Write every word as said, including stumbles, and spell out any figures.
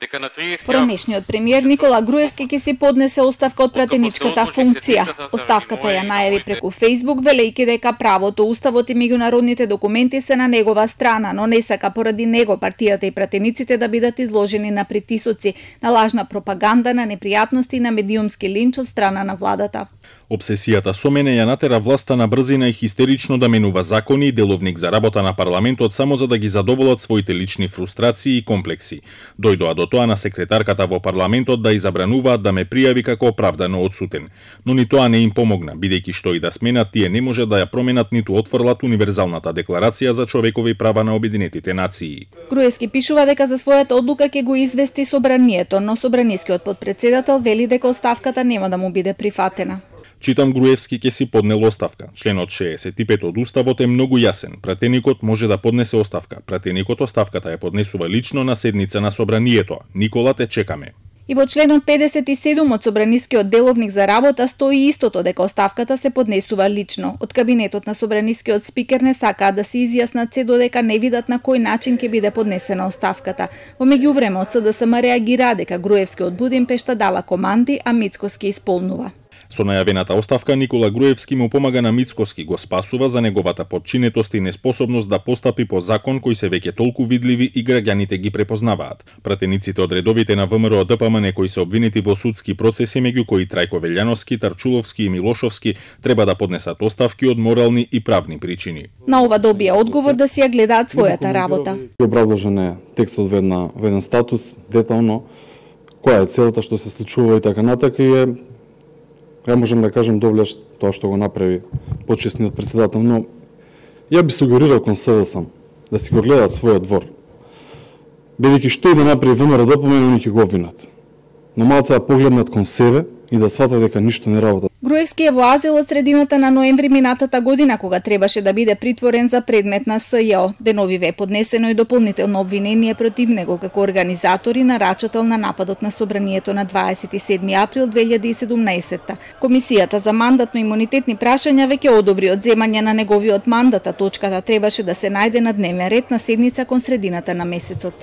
дека на триесети Поранешниот премиер Никола Груевски ќе си поднесе оставка од пратеничката функција. Оставката ја најави преку Facebook, велејќи дека правото, уставот и меѓународните документи се на негова страна, но не сака поради него партијата и пратениците да бидат изложени на притисоци, на лажна пропаганда, на непријатности и на медиумски линч од страна на владата. Обсесијата со мене ја натера власта на брзина и хистерично да менува закони и деловник за работа на парламентот само за да ги задоволат своите лични фрустрации и комплекси. Дојдоа до тоа на секретарката во парламентот да изабрануваат да ме пријави како оправдано одсутен. Но ни тоа не им помогна, бидејќи што и да сменат, тие не може да ја променат ниту отфрлат универзалната декларација за човекови права на Обединетите нации. Груевски пишува дека за својата одлука ќе го извести собранието, но собранискиот потпредседател вели дека оставката нема да му биде прифатена. Читам, Груевски ќе си поднел оставка. Членот шеесет и пет од Уставот е многу јасен. Пратеникот може да поднесе оставка. Пратеникот оставката ја поднесува лично на седница на собранието. Никола, те чекаме. И во членот педесет и седум од собранискиот деловник за работа стои истото, дека оставката се поднесува лично. Од кабинетот на собранискиот спикер не сакаат да се изјаснат се додека не видат на кој начин ќе биде поднесена оставката. Во меѓувреме од СДСМ реагира дека Груевски од Будимпешта дава команди, а Мицкоски исполнува. Со најавената оставка Никола Груевски му помага на Мицкоски, го спасува за неговата подчинетост и неспособност да постапи по закон кои се веќе толку видливи и граѓаните ги препознаваат. Пратениците од редовите на ВМРО Д П М Н кои се обвинети во судски процеси, меѓу кои Трајко Велјановски, Тарчуловски и Милошовски, треба да поднесат оставки од морални и правни причини. На ова добија одговор да си ја гледаат својата работа. Образложен е текстот во една во еден статус, детално, која е целта, што се случува и така натака, и е, ја можем да кажем, довлеш тоа што го направи почесниот председател, но ја би сугерирал кон С D S да си го гледаат својот двор. Бидејќи што и да направи ВМРО Д П М Н, они ќе го обвинат. Но малце да погледнат кон себе и да сватат дека ништо не работат. Груевски е во азил од средината на ноември минатата година, кога требаше да биде притворен за предмет на С Ј О. Деновиве е поднесено и дополнително обвинение против него како организатор и нарачател на нападот на собранието на дваесет и седми април две илјади и седумнаесетта. Комисијата за мандатно-имунитетни прашања веќе одобри одземање на неговиот мандат, а точката требаше да се најде на дневен ред на седница кон средината на месецот.